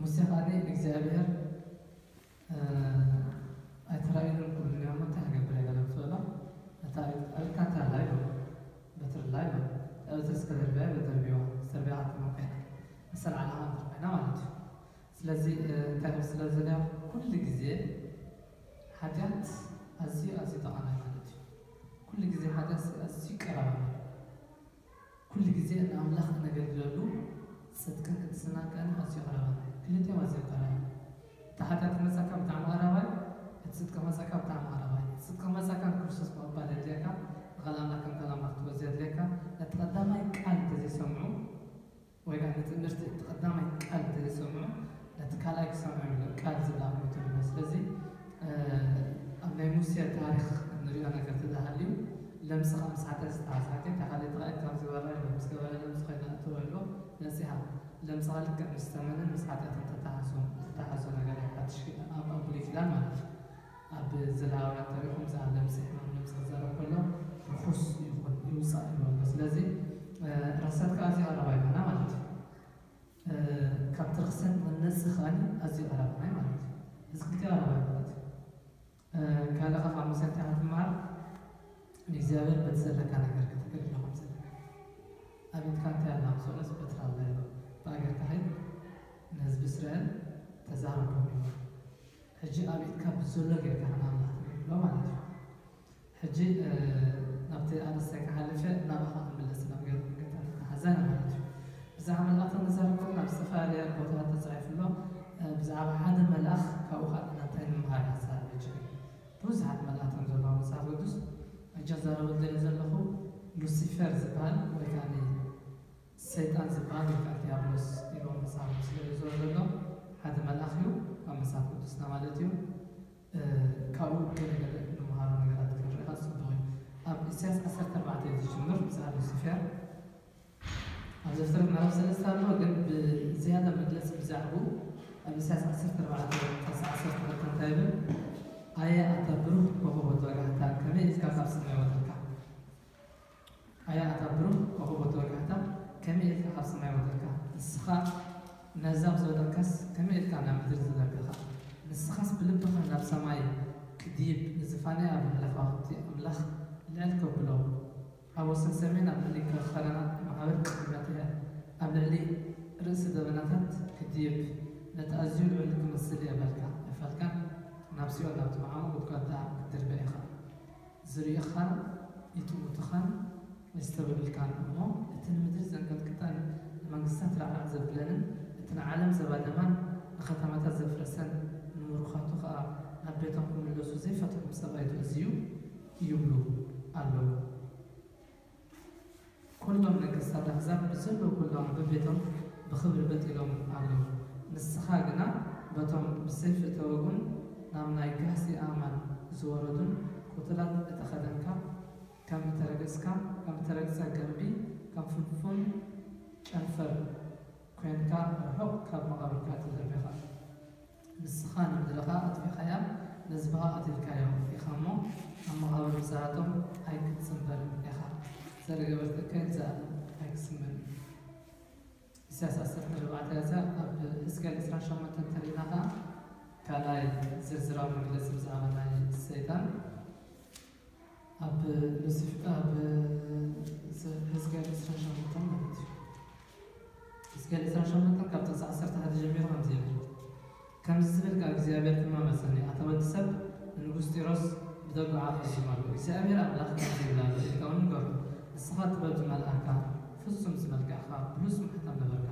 ሙሴ ከኣ ንእግዚኣብሔር ኣይተራእዩን ኩሉ እሞ እንታይ ክገብር እየ ገለ ምስ በሎ፣ እታ ኣብካ እንታይ ኣላ ይበሎ፣ በትሪ ኣላ ይበሎ። እታ በትሪ እስከ ደርብያ ይበሎ፣ ደርብዋ፣ ደርብያ ክትመ ኮይና፣ መሰል ዓላማ እንተ ኮይና ማለት እዩ። ስለዚ እንታይ ክብል ስለ ዝደለዮ፣ ኩሉ ግዜ ሓጢኣት ኣዝዩ ኣዝዩ ጠቓሚ ማለት እዩ። ኩሉ ግዜ ሓጢኣት ኣዝዩ ቀራራቢ እዩ። ኩሉ ግዜ ንኣምላኽ እነገልግለሉ ጽድቅን ቅድስናን ከኣ ኣዝዩ ቀረባ እዩ። ክልቲኦም ኣዝዮም ቀረባ እዮም። እቲ ሓጢኣት ክመጻካ ብጣዕሚ ቀረባ እዩ። እቲ ጽድቂ ክመጻካ ብጣዕሚ ቀረባ እዩ። እቲ ጽድቂ ክመጻካ ንክርስቶስ ምቕባል የድልየካ፣ ንቓል ኣምላኽ ከም ቃል ኣምላኽ ክትወስድ የድልየካ። ነቲ ቀዳማይ ቃል እንተዘይሰምዑ ወይ ከዓ ንትምህርቲ እቲ ቀዳማይ ቃል እንተዘይሰምዑ ነቲ ካልኣይ ክሰምዑ እዮም ቃል ዝለኣኹ ትብሎ። ስለዚ ኣብ ናይ ሙሴ ታሪኽ እንሪኦ ነገር ተተሃልዩ ለምጽኻ ምስ ሓጢኣት ዝተሓሓዝ ሓጢኣት እታ ካልኣይቲ ካብ ዝገበራ ኢሉ ምስ ገበረ ለምጽ ኮይና እትወ ኢሎ ነጺሃ። ለምጽኻ ልክዕ ምስ ተመንን ምስ ሓጢኣትን ተተሓዞ ተተሓዞ ነገር እዩ ሓድሽ ኪዳን ኣብ ኣብ ብሉይ ኪዳን ማለት እዩ። ኣብ ዘሌዋውያን ተሪኹም ዝኣ ለምጽ ሕማም ለምጽ ክዛረብ ከሎ ርኹስ ይኹን ይውጻእ ይብሎ። ስለዚ ረክሰት ከዓ እዚ ቀረባ ይኾና ማለት እዩ። ካብቲ ርክሰት መነፂ ከኣኒ ኣዝዩ ቀረባ ናይ ማለት እዩ። እዚ ክልቲኡ ቀረባ ማለት እዩ። ካልእ ካብ ሙሴ እንታይ ክትመሃር ንእግዚኣብሔር በቲ ዘለካ ነገር ከተገልግሎ ከም ዘለካ ኣብ ኢድካ እንታይ ኣላ ምስ በለስ በትሪ ኣላ ኢሎ ብኣገርካ ኸይድ ንህዝቢ እስራኤል ተዛረቦም ኢሎ። ሕጂ ኣብ ኢድካ ብዘሎ ጌርካ ንኣምላኽ ተገልግሎ ማለት እዩ። ሕጂ ናብቲ ኣርእስታይ ክሓልፍ እየ፣ ናባኻ ክምለስ ናብ ገ- ገጠር ተሓዛኒ ማለት እዩ። ብዛዕባ መልኣኽ ንዛረብ ከለና ኣብ ዝተፈላለየ ቦታታት ተጻሒፉ ኣሎ። ብዛዕባ ሓደ መልኣኽ ካብኡ ከዓ እንታይ ንምሃር ሓሳብ ሕጂ ብዙሓት መልኣኽቲ ዘለዋ መጽሓፍ ቅዱስ ሕጂ ዛረብ ደለ ዘለኹ ሉሲፈር ዝበሃል ወይ ከዓ ሰይጣን ዝበሃል ወይ ከዓ ዲያብሎስ ኢሎ መጽሓፍ ስለ ዝዞረ ዘሎ ሓደ መልኣኽ እዩ ኣብ መጽሓፍ ቅዱስና ማለት እዩ። ካብኡ ገለገለ ንምሃሮ ነገራት ክንርኢ ከኣ ጽቡቕ እዩ። ኣብ ኢሳያስ ዓሰርተ ኣርባዕተ እዩ ዝጅምር ብዛዕባ ሉሲፌር። ኣብ ዘፍጥረት ምዕራፍ ሰለስተ ኣሎ፣ ግን ብዝያዳ መግለጺ ብዛዕባኡ ኣብ ኢሳያስ ዓሰርተ ኣርባዕተ ጥቕሲ ዓሰርተ ክልተ እንታይ ይብል? ኣየ ኣታ ብሩኽ ኮኸብ ወተባጋሕታ፣ ከመይ ኢልካ ካብ ሰማይ ወረድካ? ኣያ ኣታ ብሩኽ ኮኸብ ወተወጋሕታ፣ ከመይ ኢልካ ካብ ሰማይ ወረድካ? ንስኻ ነህዛብ ዝወደቕካስ፣ ከመይ ኢልካ ናብ ምድሪ ዝዘርጋኻ? ንስኻስ ብልብኻ ናብ ሰማይ ክድይብ፣ ንዝፋንያ ኣብ ልዕሊ ከዋኽብቲ ኣምላኽ ልዕል ከብሎ፣ ኣብ ወሰን ሰሜን ኣብ ልዕሊ ከረናት ማዕበል ክቕመጥ እየ፣ ኣብ ልዕሊ ርእሲ ደበናታት ክድይብ፣ ነቲ ኣዝዩ ልዑል ክመስል እየ በልካ። ኣይፋልካን፣ ናብ ሲኦል ናብቲ መዓሙቕ ጉድጓድ ደኣ ክትድርበ ኢኻ። ዝርእኻን ይጥምቱኻን የስተብህሉልካን እሞ፣ እቲ ንምድሪ ዘንቀጥቅጠን ንመንግስታት ራዕራዕ ዘብለንን እቲ ንዓለም ዘባደማን ንኸተማታት ዘፍረሰን ንምሩኻቱ ኸኣ ናብ ቤቶም ክምለሱ ዘይፈትሖም ሰብ ኣይትእዝዙ ይብሉ ኣለዉ። ኩሎም ነገስታት ኣሕዛብ ብዘለዉ ኩሎም በቤቶም ብኽብሪ በጥ ኢሎም ኣለዉ። ንስኻ ግና በቶም ብሰይፊ እተወግኡን ናብ ናይ ጋህሲ ኣእማን ዝወረዱን ቅቱላት እተኸደንካ፣ ከም እተረገጽካ፣ ከም እተረግጸ ገምቢ፣ ከም ፍንፉን ጨንፈር ኰይንካ ርሑቕ ካብ መቓብርካ ተደርቢኻ። ንስኻ ንምድሪ ኸኣ ኣጥፊእካያ፣ ንህዝቢ ኸኣ ቀቲልካዮ ኢኻ እሞ፣ ኣብ መቓብር ብስራቶም ኣይክትጽንበርን ኢኻ። ዘረገበርትከ ንዘኣለም ኣይክስመን እዩ። ኢሳያስ ዓሰርተ ኣርባዕተ ያዘ ኣብ ሕዝቅኤል ዕስራን ሸሞንተን እንተሪእና ኸኣ ካልኣይ ዝርዝራዊ መግለጺ ብዛዕባ ናይ ሰይጣን ኣብ ሉሲፍ ኣብ ሕዝቅኤል ዕስራን ሸሞንተን ማለት እዩ። ሕዝቅኤል ዕስራን ሸሞንተን ካብ ጥቕሲ ዓሰርተ ሓደ ጀሚሩ ከምዚ ይብል። ከምዚ ዝብል ቃል እግዚኣብሔር ድማ መጸኒ፣ ኣታ ወዲ ሰብ፣ ንንጉስ ጢሮስ ብደጉዓ ፈጺሙ ኣሎ። እግዚኣብሔር ኣምላኽ ከምዚ ይብል ኣሎ ኢልካ እውን ንገሮ። ንስኻ ጥበብ ዝመልኣካ፣ ፍጹም ዝመልክዕካ፣ ብሉጽ ማሕተም ነበርካ።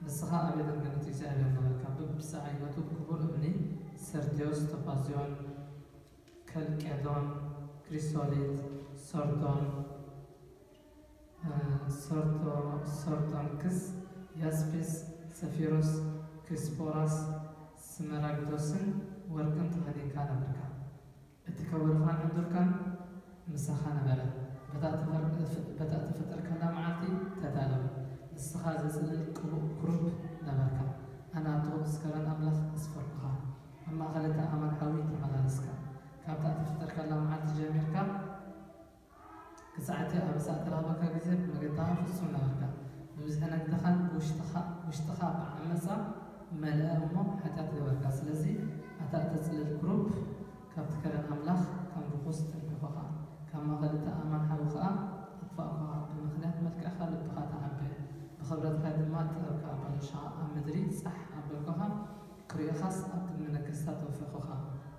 ንስኻ ኣብ ኤደን ገነት እግዚኣብሔር ነበርካ። በብዝዓይነቱ ክቡር እምኒ፣ ሰርድዮስ፣ ቶጳዝዮን፣ ከልቄዶን፣ ክሪሶሊት፣ ሰርዶን፣ ሰርዶንክስ፣ ያስፒስ፣ ሰፊሮስ፣ ክሪስፖራስ፣ ስመራግዶስን ወርቅን ተኸዲንካ ነበርካ። እቲ ከበሮኻን ዕንዱርካን ምሳኻ ነበረ። በታ እተፈጠርካላ መዓልቲ ተዳለወ። ንስኻ ዘጽልል ቅቡእ ክሩብ ነበርካ። ኣነ ኣብቲ ቅዱስ ከረን ኣምላኽ ኣስፈርኩኻ። ኣብ ማእከል እቲ ኣእማን ሓዊ ተመላለስካ። ካብታ እተፈጠርካላ መዓልቲ ጀሚርካ ክሳዕ እቲ ኣበሳ እተረኽበካ ግዜ ብመገድኻ ፍጹም ነበርካ። ብብዝሒ ነግድኻን ብውሽጥኻ ብዓመት መልአ እሞ ሓጢኣት ገበርካ። ስለዚ ኣታ እተጽልል ክሩብ፣ ካብቲ ከረን ኣምላኽ ከም ርኹስ ጠንቀኹኻ፣ ካብ ማእከል እቲ ኣእማን ሓዊ ኸኣ ኣጥፋእኩኻ። ብምኽንያት መልክዕካ ልብኻ ተዓበ፣ ብኽብረትካ ድማ ጥበብካ ኣባላሽኻ። ኣብ ምድሪ ጻሕ ኣበልኩኻ፣ ክርእዩኻስ ኣብ ቅድሚ ነገስታት ኣውፈኹኻ።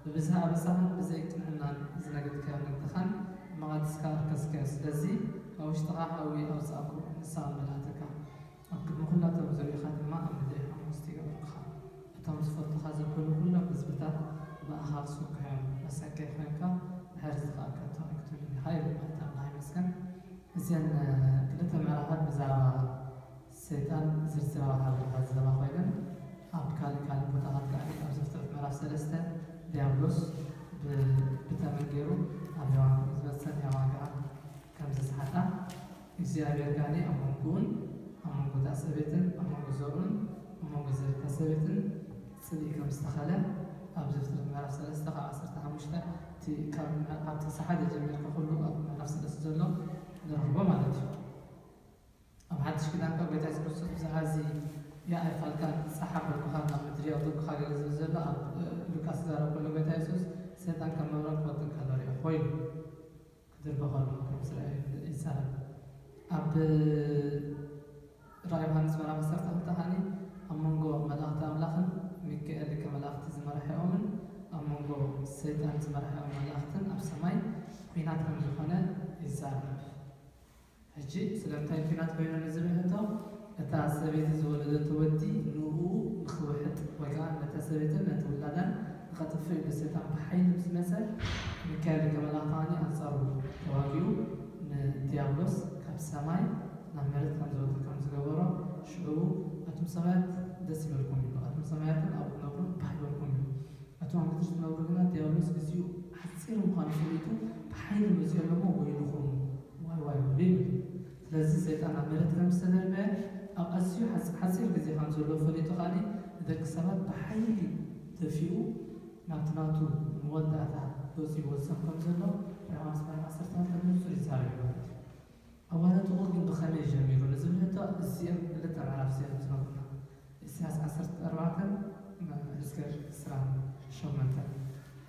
ብብዝሒ ኣበሳኻን ብዘይ ቅንዕናን ዝነገድካዮ ነግድኻን መቓድስካ ኣርከስካዮ። ስለዚ ካብ ውሽጥኻ ሓዊ ኣውጻእኩ፣ ንስኻ መላእትካ ኣብ ቅድሚ ኩላቶም ዝርእዩኻ ድማ ኣብ ምድሪ ሓሙስቲ ይገብሩኻ። እቶም ዝፈልጡኻ ዘበሉ ኩሎም ህዝብታት ብኣኻ ክስክሑ እዮም። መሰከይ ኮይንካ ድሕሪ እዚ ኸኣ ከቶ ኣይክትብሉን ኢኻ ይብል። ማለት ኣምላኽ ይመስገን። እዘን ክልተ ምዕራፋት ብዛዕባ ሰይጣን ዝርዝራዊ ሓበሬታ ዝህባ ኮይነን፣ ኣብ ካልእ ካልእ ቦታታት ከኣ ኣብ ዘፍጥረት ምዕራፍ ሰለስተ ዲያብሎስ ብ-፣ ብተመን ገይሩ ኣብ ሔዋን ከም ዝመጸን ሔዋን ከኣ ከም ዘስሓታ እግዚኣብሔር ከኣ ኣብ መንጎኡን ኣብ መንጎ እታ ሰበይትን ኣብ መንጎ ዘርኡን ኣብ መንጎ ዘርእታ ሰበይትን ጽልኢ ከም ዝተኸለ ኣብ ዘፍጥረት ምዕራፍ ሰለስተ ካብ ዓሰርተ ሓሙሽተ እቲ ካብ ምዕ-፣ ካብ ጥቕሲ ሓደ ጀሚርካ ኩሉ ኣብ ምዕራፍ ሰለስተ ዘሎ ንረኽቦ ማለት እዩ። ኣብ ሓድሽ ኪዳን ከኣ ጎይታ የሱስ ክርስቶስ ብዛዕባ እዚ "ያ ኣይፋልካን ጻሕ ኣበልኩኻን ናብ ምድሪ ኣውደቅኩኻ" ገለ ዝብል ዘሎ ኣብ ሉቃስ ዝዛረብ ከሎ ጎይታ የሱስ ሰይጣን ከም መብረቕ ክወጥን ከሎ ርእኹ ኢሉ። ክድርበ ከሎ ከም ዝረኣየ ይዛረብ። ኣብ ራእይ ዮሃንስ ምዕራፍ ዓሰርተ ክልተ ከኣ ኣብ መንጎ መላእኽቲ ኣምላኽን ሚካኤል ሊቀ መላእኽቲ ዝመራሕኦምን ኣብ መንጎ ሰይጣን ዝመራሕኦም መላእኽትን ኣብ ሰማይ ኲናት ከም ዝኾነ ይዛረብ። ሕጂ ስለምንታይ ኲናት ኮይኑ ንዝብል ሕቶ፣ እታ ሰበይቲ ዝወለደቶ ወዲ ንኡ ንኽውሕጥ ወይ ከኣ ነታ ሰበይትን ነቲ ውላዳን ንኸጥፍእ ኢሉ ሰይጣን ብሓይሊ ምስ መጸ፣ ሚካኤል ሊቀ መላእኽቲ ከኣ ኣንጻሩ ተዋጊኡ ንዲያብሎስ ካብ ሰማይ ናብ መሬት ከም ዝወርድ ከም ዝገበሮ፣ ሽዑ ኣቱም ሰማያት ደስ ይበልኩም እዩ፣ ኣቱም ሰማያትን ኣብኡ ትነብሩን ባህ ይበልኩም እዩ። እቶም ኣብ ምድሪ ዝነብሩ ግና ዲያብሎስ ግዚኡ ሓጺር ምዃኑ ፈሊጡ ብሓይሊ መጺኡ ኣሎ እሞ ወይልኹም፣ ዋይ ዋይ በሉ ይብል። ስለዚ ሰይጣን ኣብ መሬት ከም ዝተደርበየ ኣብ ኣዝዩ ሓጽ-፣ ሓጺር ግዜ ከም ዘሎ ፈሊጡ ከኣ ንደቂ ሰባት ብሓይሊ ደፊኡ ናብቲ ናቱ መወዳእታ ገጹ ይወስኽ ከም ዘሎ ዮሃንስ ምዕራፍ ዓሰርተ ክልተ ብንጹር ይዛረብ እዩ ማለት እዩ። ኣዋልድ ጥቑር ግን ብኸመይ ጀሚሩ ንዝብል ሕቶ እዚኦም ክልተ ምዕራፍ እዚኦም ዝነግሩና። ኢሳያስ ዓሰርተ ኣርባዕተ፣ ሕዝቅኤል ዕስራን ሸሞንተን።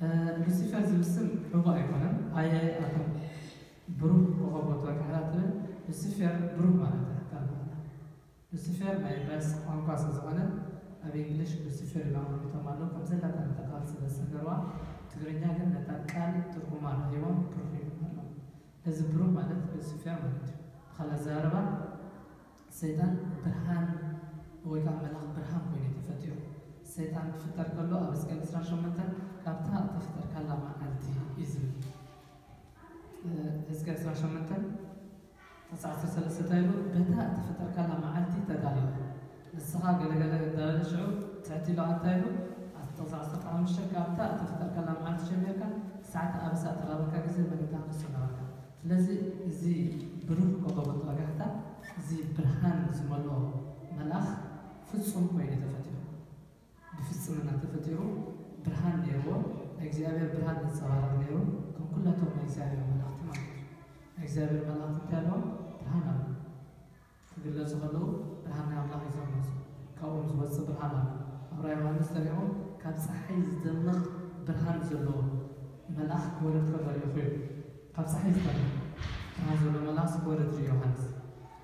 እ፣ ሉሲፈር ዝብል ስም ሕቡእ ኣይኮነን። ኣየ ኣቶም ብሩህ ኮኸብ ወጋሕታ ትብል ሉሲፈር ብሩህ ማለት እያ ቃል ማለት። ሉሲፈር ናይ ዕብራይስጥ ቋንቋ ስለ ዝኾነ ኣብ እንግሊሽ ሉሲፈር ኢሎም ኣቕሚጦም ኣለዉ። ከም ዘላታ ነታ ቃል ስለ ዝሰገርዋ ትግርኛ ግን ነታ ቃል ትርጉማ ረኺቦም ብሩህ ኢሎም ኣለዉ። እዚ ብሩህ ማለት ሉሲፈር ማለት እዩ። ብኻልእ ኣዘራርባ ሰይጣን ብርሃን ወይ ከዓ መልኣኽ ብርሃን ኮይኑ እዩ ተፈጢሩ። ሰይጣን ክፍጠር ከሎ ኣብ ሕዝቅኤል ዕስራን ሸሞንተን ካብታ እተፈጠርካላ መዓልቲ እዩ ዝብል። እ፣ ሕዝቅኤል ዕስራን ሸሞንተን ጥቕሲ ዓሰርተ ሰለስተ እንታይ ኢሉ? በታ እተፈጠርካላ መዓልቲ ተዳለወ። ንስኻ ገለገለ እንዳበለ ሽዑ ትሕት ኢሉ እንታይ ኢሉ? ኣብ ጥቕሲ ዓሰርተ ሓሙሽተ ካብታ እተፈጠርካላ መዓልቲ ጀሚርካ ክሳዕ እቲ ኣበሳ እተራበካ ግዜ መለታ ክሱ ነበርካ። ስለዚ እዚ ብሩህ ኮኸብ ወጋሕታ፣ እዚ ብርሃን ዝመልኦ መልኣኽ ፍጹም ኮይኑ ተፈጢሩ። ብፍጽምና ተፈጢሩ፣ ብርሃን ነይርዎ፣ ናይ እግዚኣብሔር ብርሃን ዘንጸባርቕ ነይሩ፣ ከም ኩላቶም ናይ እግዚኣብሔር መላእኽቲ ማለት እዩ። ናይ እግዚኣብሔር መላእኽቲ እንታይ ኣለዎም? ብርሃን ኣለዎም። ክግለጹ ከለዉ ብርሃን ናይ ኣምላኽ እዩ ዝግለጹ። ካብኦም ዝወጽእ ብርሃን ኣሎ። ኣብ ራእይ ዮሃንስ ተሪእኹም ካብ ጸሓይ ዝደምቕ ብርሃን ዘለዎ መልኣኽ ክወርድ ከሎ ርኢኹ እዩ። ካብ ጸሓይ ዝደምቕ ብርሃን ዘለዎ መልኣኽ ክወርድ ርኢ ዮሃንስ።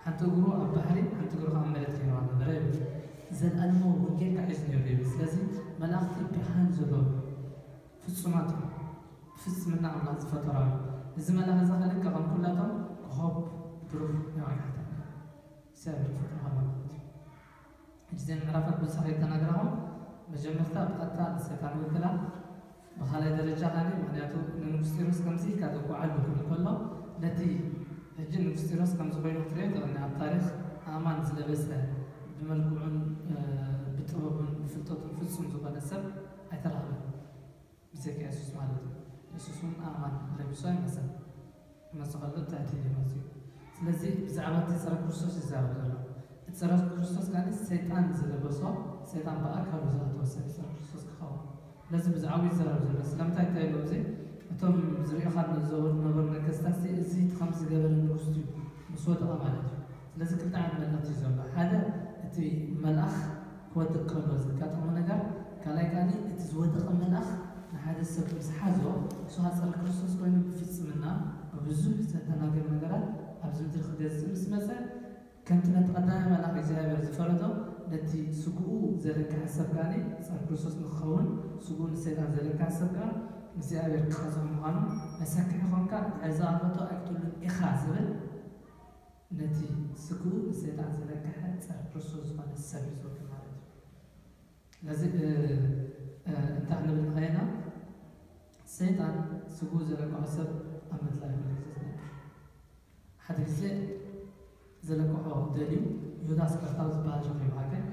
ሓንቲ እግሩ ኣብ ባሕሪ፣ ሓንቲ እግሩ ከኣ ኣብ መሬት ገይርዋ ነበረ ይብል። ዘለኣለማዊ ወንጌል ከዓ እዩ ነይሩ ይብል። ስለዚ መላእኽቲ ብርሃን ዘለዎም ፍጹማት እዮም። ብፍጽምና ኣምላኽ ዝፈጠሮም እዮም። እዚ መልኣኽ እዚ ከኣ ልክዕ ከም ኩላቶም ኮኾብ ብሩህ ናይ ወጋሕታ እግዚኣብሔር ዝፈጥሮ ከሎ ማለት እዩ። ሕጂ እዘን ምዕራፋት ብዙሕ ከይተናገርናኹም፣ መጀመርታ ብቐጥታ ንሰይጣን ይውክላ። ብኻልኣይ ደረጃ ከኣ ምኽንያቱ ንንጉስ ጢሮስ ከምዚ ኢልካ ተጓዓሉ ክብል ከሎ፣ ነቲ ሕጂ ንጉስ ጢሮስ ከምዚ ኮይኑ ክትሪኦ ትኽእል። ኣብ ታሪኽ ኣእማን ዝለበሰ፣ ብመልክዑን፣ እ፣ ብጥበቡን ብፍልጠቱን ፍጹም ዝኾነ ሰብ ኣይተረኽበን። ብዘይካ የሱስ ማለት እዩ። የሱስ እውን ኣእማን ለቢሱ ኣይመጸን። ክመጽእ ከሎ ትሕት ኢሉ እዩ መጺኡ። ስለዚ ብዛዕባ እቲ ጸረ ክርስቶስ ይዛረብ ዘሎ። እቲ ጸረ ክርስቶስ ከኣ ሰይጣን ዝለበሶ፣ ሰይጣን ብኣካሉ ዝኣተወ ሰብ ጸረ ክርስቶስ ክኸውን። ስለዚ ብዛዕባኡ ይዛረብ ዘሎ። ስለምንታይ እንታይ ኢሉ ኣብዚ? እቶም ዝርእዩኻ ዝነበሩ ነገስታት እዚ ከምዚ ዝገበረ ንጉስ እዩ ምስ ወደቐ ማለት እዩ። ስለዚ ክልተ ዓይነት መልእኽቲ እዩ ዘሎ። ሓደ እቲ መልኣኽ ወድቅ ከሎ ዘጋጠሞ ነገር፣ ካልኣይ ከኣ እቲ ዝወደቐ መልኣኽ ንሓደ ሰብ ምስ ሓዞ፣ እሱ ሃፀረ ክርስቶስ ኮይኑ ብፍጽምና ብብዙሕ ዘተናገር ነገራት ኣብዚ ምድሪ ክገዝእ ምስ መጸ፣ ከምቲ ነቲ ቀዳማይ መልኣኽ እግዚኣብሔር ዝፈረዶ፣ ነቲ ስግኡ ዘለካ ሰብ ከኣ ጸር ክርስቶስ ንክኸውን፣ ስግኡ ንሰይጣን ዘለካ ሰብ ከኣ እግዚኣብሔር ክቐጽዖ ምዃኑ መሰክሒ ኮንካ፣ ንዕዛ ኣቦቶ ኣይቅትሉን ኢኻ ዝብል፣ ነቲ ስግኡ ንሰይጣን ዘለካ ጸር ክርስቶስ ዝኾነ ሰብ እዩ ዝወክል ማለት እዩ። ስለዚ እንታይ ክንብል ንኸየና፣ ሰይጣን ስግኡ ዘለካ ሰብ ኣብ ምድላይ ኩሉ ግዜ ዝነብር። ሓደ ግዜ ዘለቅሖ ደልዩ ይሁዳ ስቀርታዊ ዝበሃል ረኺቡ። ሃገር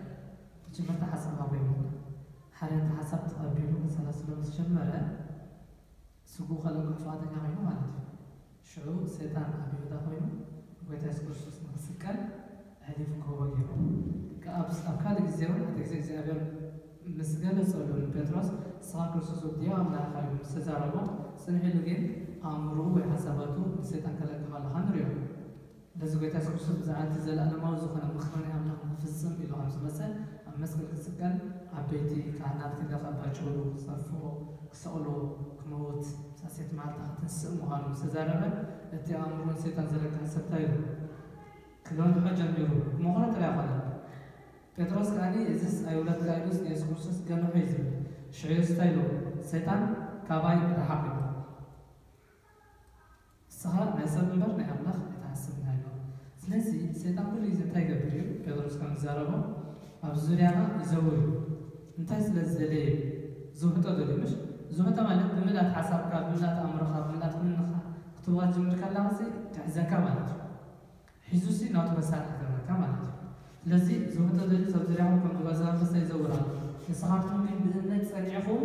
መጀመርታ ሓሳብ ሃቦ ይብለና። ሓደ እቲ ሓሳብ ተቐቢሉ ከሰላስሎ ምስ ጀመረ፣ ስግኡ ከለቅሖ ፍቓደኛ ኮይኑ ማለት እዩ። ሽዑ ሰይጣን ኣብ ይሁዳ ኮይኑ ንጎይታ የሱስ ክርስቶስ ንኽስቀል ኣሕሊፉ ክህቦ ገይሩ። ከ-፣ ኣብ፣ ኣብ ካልእ ግዜ እውን፣ ሓደ ግዜ እግዚኣብሔር ምስ ገለጸሉ ንጴጥሮስ፣ "ንስኻ ክርስቶስ ወዲ ኣምላኽ ኢኻ" ኢሉ ምስ ተዛረቦ፣ ጽንሕ ኢሉ ግን ኣእምሮኡ ወይ ሓሳባቱ ንሰይጣን ከለቅሖ ከለኻ ንሪኦ። ስለዚ ጎይታ የሱስ ክርስቶስ ብዛዕባ እቲ ዘለኣለማዊ ዝኾነ ምኽሪ ናይ ኣምላኽ ንኽፍጽም ኢሉ ከም ዝመጸ፣ ኣብ መስቀል ክስቀል፣ ዓበይቲ ካህናት ክንደኻ ባጭሩ ክጸርፍዎ፣ ክሰቕልዎ፣ ክመውት፣ ሳሴት መዓልታ ክትንስእ ምዃኑ ምስ ተዛረበ፣ እቲ ኣእምሮ ንሰይጣን ዘለቅሕ ሰብ እንታይ ኢሉ? ክገንሖ ጀሚሩ። ክመኽሮ ጥራይ ኣይኮነን። ጴጥሮስ ከኣ፣ "እዝስ ኣይውረድካ" ኢሉስ ንየሱስ ክርስቶስ ገንሖ እዩ ዝብል። ሽዑ የሱስ እንታይ ኢሉ? "ሰይጣን ካባይ ርሓቕ" ኢሉ። "ንስኻ ናይ ሰብ እምበር ናይ ኣምላኽ ኣይትሓስብ" ኢና ኢሉ። ስለዚ ሰይጣን ኩሉ ግዜ እንታይ ይገብር እዩ? ጴጥሮስ ከም ዝዛረቦ፣ ኣብ ዙርያና ይዘውር እዩ። እንታይ ስለ ዝደለየ እዩ? ዝውሕጦ ደልዩ፣ ምሽ? ዝውሕጦ ማለት ብምልኣት ሓሳብካ፣ ብምልኣት ኣእምሮኻ፣ ብምልኣት ኩልኻ ክትዋጅ ጀምር ከለኻ፣ እዚ ክሕዘካ ማለት እዩ። ሒዙ ሲ ናቱ መሳርሒ ክገብረካ ማለት እዩ። ስለዚ ዝውሕጦ ደልዩ፣ ሰብ ዙርያኹም ከም ዝጓዛ ኣንበሳ ይዘውር ኣሎ። ንስኻትኩም ግን ብእምነት ጸኒዕኹም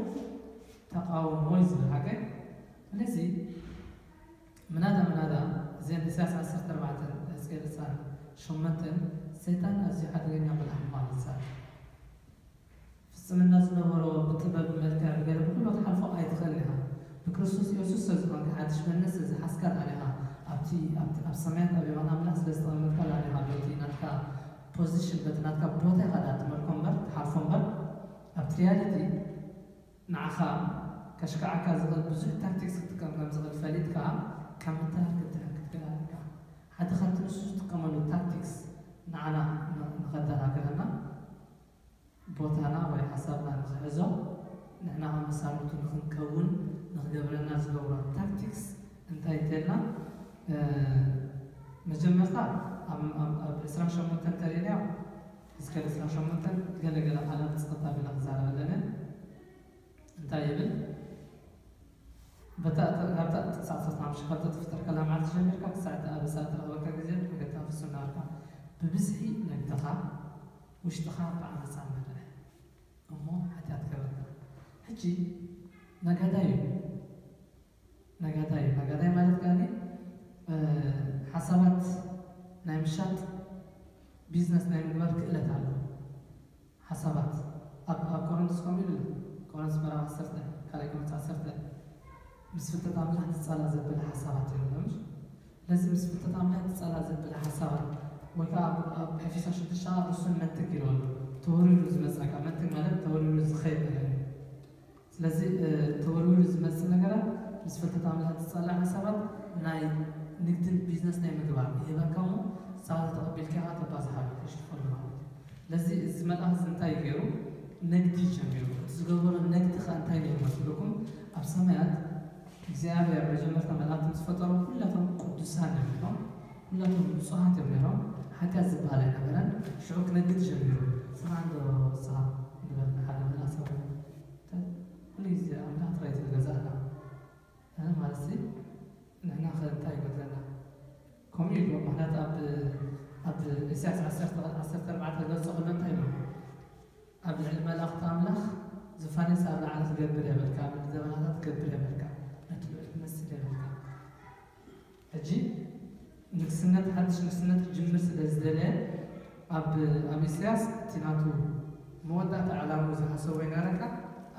ተቃውሞ እዩ ዝብል ሓቀይ። ስለዚ ምናዳ ምናዳ እዘን ኢሳያስ ዓሰርተ ኣርባዕተን ሕዝቅኤል ዕስራን ሸሞንተን ሰይጣን ኣዝዩ ሓደገኛ መልኣኽ ምዃኑ ይዛረብ። ፍጽምና ዝነበሮ ብጥበብ፣ ብመልክዕ፣ ብገለ ብኩሉ ክትሓልፎ ኣይትኽእልን ኢኻ። ብክርስቶስ ኢየሱስ ስለ ዝኾንካ፣ ሓድሽ መንነት ስለ ዝሓዝካ ደኣ ኢኻ። ኣብቲ፣ ኣብቲ፣ ኣብ ሰማያት ኣብ የማን ኣምላኽ ስለ ዝተቐመጥካ ደኣ ኢኻ። በቲ ናትካ ፖዚሽን፣ በቲ ናትካ ቦታ ኢኻ ደኣ ትመልኮ እምበር፣ ትሓልፎ እምበር፣ ኣብቲ ሪያሊቲ ንዓኻ ከሽክዓካ ዝኽእል ብዙሕ ታክቲክስ ክትጥቀም ከም ዝኽእል ፈሊጥካ፣ ካብ ምትላል ክትድሕን ክትክእል ኣለካ። ሓደ ካብቲ ንሱ ዝጥቀመሉ ታክቲክስ ንዓና ን-፣ ንኸደናግረና፣ ቦታና ወይ ሓሳብና ንኽሕዞ፣ ንሕና ከም መሳርሕቱ ንኽንከውን ንኽገብረና ዝገብሮ ታክቲክስ እንታይ እንተልና፣ እ፣ መጀመርታ ኣብ፣ ኣብ፣ ኣብ ዕስራን ሸሞንተን እንተሪእናዮ፣ እስከ ዕስራን ሸሞንተን ገለ ገለ ቃላት ጽቕጥ ኣቢለ ክዛረብ ኣለነ። እንታይ ይብል? በታ፣ ካብታ ጥቅሲ ዓሰርተ ሓሙሽተ፣ ካብታ ትፍጠር ከላ መዓልቲ ጀሚርካ ክሳዕ እቲ ኣበሳ እትረኽበካ ግዜ፣ መገድካ ፍጹም ናበልካ፣ ብብዝሒ ነግድኻ፣ ውሽጥኻ ብዓመጻ መርሕ፣ እሞ ሓጢኣት ገበርካ። ሕጂ ነጋዳይ እዩ። ነጋዳይ እዩ። ነጋዳይ ማለት ከኣ፣ እ፣ ሓሳባት ናይ ምሻጥ፣ ቢዝነስ ናይ ምግባር ክእለት ኣለዎ። ሓሳባት ኣብ፣ ኣብ ቆሮንቶስ ከምኡ ኢሉ ኣሎ። ቆሮንቶስ ምዕራፍ ዓሰርተ፣ ካልኣይ ቆሮንቶስ ዓሰርተ፣ ምስ ፍልጠት ኣምላኽ ትጻላእ ዘብል ሓሳባት ይብሎ። ስለዚ ምስ ፍልጠት ኣምላኽ ትጻላእ ዘብል ሓሳባት፣ ወይ ከኣ ኣብ፣ ኣብ ኤፌሶን ሽዱሽተ ርሱን መንትግ ኢሉ ኣሎ። ተወሪሩ ዝመጻካ መንትግ ማለት ተወሪሩ ዝኸይድ ነገር እዩ። ስለዚ፣ እ፣ ተወርዊሩ ዝመጽእ ነገራት ምስ ፍልጠት ኣምላኽ ዝጻላእ ሓሳባት ናይ ንግድን ቢዝነስ ናይ ምግባር ይህበካ እሞ፣ ንስኻ ተቐቢልካ ኢኻ ተባዝሓሉ፣ ተሽርፈሉ ማለት እዩ። ስለዚ እዚ መልኣኽ እዚ እንታይ ገይሩ? ንግዲ ጀሚሩ። እቲ ዝገበሮ ንግዲ ኸ እንታይ ነይሩ መስልኩም? ኣብ ሰማያት እግዚኣብሔር መጀመርታ መላእክቲ ምስ ፈጠሮም ኩላቶም ቅዱሳን እዮም ነይሮም። ኩላቶም ንጹሃት እዮም ነይሮም። ሓጢኣት ዝበሃል ኣይነበረን። ሽዑ ክነግድ ጀሚሩ። ንስኻ እንዶ ንስኻ ንበል ንሓደ መልኣኽ ሰብ ኩሉ ግዜ ኣምላኽ ጥራይ ዝገዛእና። እ፣ ማለት ሲ ንሕና ኸ እንታይ ይጎድለና? ከምኡ ኢሉ፣ ምኽንያቱ ኣብ፣ ኣብ ኢሳያስ ዓሰርተ፣ ዓሰርተ ኣርባዕተ ገጽ ከሎ እንታይ ኢሉ? ኣብ ልዕሊ መላእኽቲ ኣምላኽ ዝፋንስ ኣብ ላዕሊ ክገብር የብልካ፣ ኣብ ልዕሊ ደበናታት ክገብር የብልካ፣ ነቲ ልዑል ክመስል የብልካ። ሕጂ ንግስነት፣ ሓድሽ ንግስነት ክጅምር ስለ ዝደለየ፣ ኣብ፣ ኣብ ኢሳያስ እቲ ናቱ መወዳእታ ዕላምኡ ዝሓሰቦ ይነግረካ፣